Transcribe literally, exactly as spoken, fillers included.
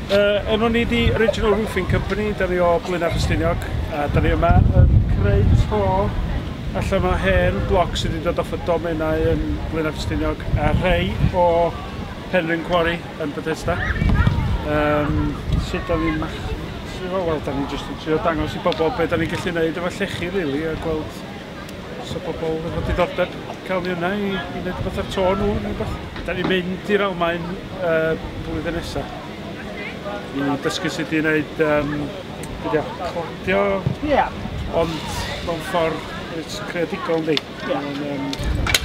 Uh, enw ni di Original Roofing Company, da ni o Blaenau Ffestiniog, a da ni yma yn creu to allan o hen bloc sydd wedi dod off y domenau yn Blaenau Ffestiniog a rhai o Penrhyn Quarry yn Bethesda. Um, sut da ni'n mach... Wel, da ni'n just yn trio dangos i bobl beth da ni'n gallu neud efo llechi, really, a gweld os o bobl efo diddordeb cael ni yna i, i wneud rhywbeth ar to nhw neu rhywbeth. Da ni'n mynd i'r Almaen uh, blwyddyn nesaf i dysgu sut i wneud um, be 'di o, cladio, Ie. ond mewn ffordd reit creadigol, yndi? Ie. Mae'n, um,